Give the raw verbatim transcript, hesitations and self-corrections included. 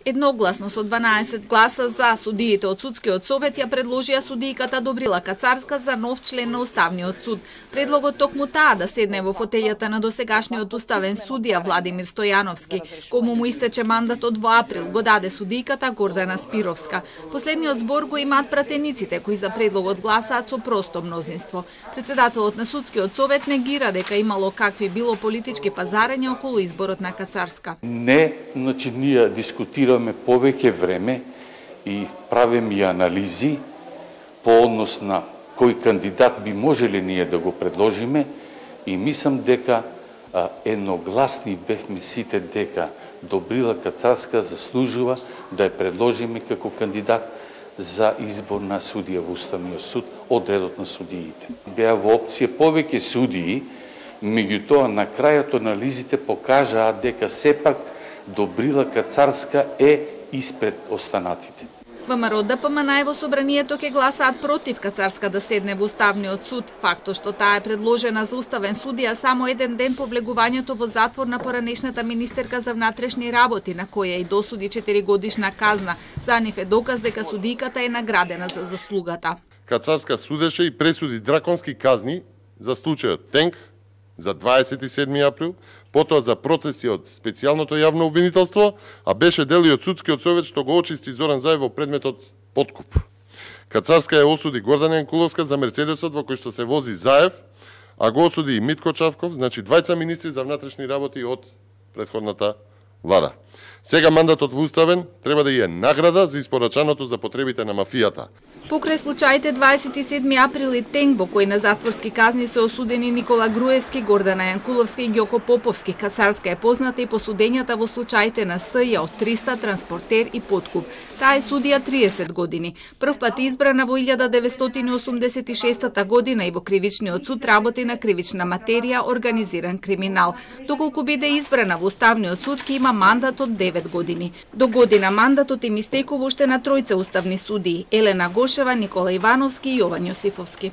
Едногласно со дванаесет гласа за, судиите од Судскиот совет ја предложија судијката Добрила Кацарска за нов член на Уставниот суд. Предлогот токму таа да седне во фотејата на досегашниот уставен судија Владимир Стојановски, кому му истече мандатот во април, го даде судијката Гордана Спировска. Последниот збор го имаат пратениците кои за предлогот гласаат со просто мнозинство. Председателот на Судскиот совет негира дека имало какви било политички пазарења околу изборот на Кацарска. Не, значи ние дискутираме повеќе време и правиме и анализи по однос на кој кандидат би можеле ние да го предложиме и мислам дека а, едногласни бевме сите дека Добрила Кацарска заслужува да ја предложиме како кандидат за избор на судија во Уставниот суд од редот на судиите. Беа во опција повеќе судии, меѓутоа на крајот анализите покажаа дека сепак Добрила Кацарска е испред останатите. ВМРО Д П М Н во собранието ќе гласаат против Кацарска да седне во Уставниот суд. Фактот што таа е предложена за уставен судија само еден ден по влегувањето во затвор на поранешната министерка за внатрешни работи, на која и досуди четиригодишна казна. За нив е доказ дека судијката е наградена за заслугата. Кацарска судеше и пресуди драконски казни за случајот Тенк за дваесет и седми април, потоа за процеси од специјалното јавно обвинителство, а беше дел и од Судскиот совет што го очисти Зоран Заев во предметот подкуп. Кацарска ја осуди Гордана Јанкуловска за Мерцедесот во кој што се вози Заев, а го осуди и Митко Чавков, значи двајца министри за внатрешни работи од претходната влада. Сега мандатот во уставен треба да ја награда за испорачаното за потребите на мафијата. Покрај случаите дваесет и седми април и Тенк, во кои на затворски казни се осудени Никола Груевски, Гордана Јанкуловска и Ѓоко Поповски, Кацарска е позната и по судењата во случаите на С Ј од триста, Транспортер и Подкуп. Таа е судија триесет години. Прв пат избрана во илјада деветстотини осумдесет и шеста година и во Кривичниот суд работи на кривична материја, организиран криминал. Доколку биде избрана во Уставниот суд, ќе има мандат од девет години. До година мандатот им истекува уште на тројца уставни судии: Елена Гошева, Никола Ивановски и Јован Јосифовски.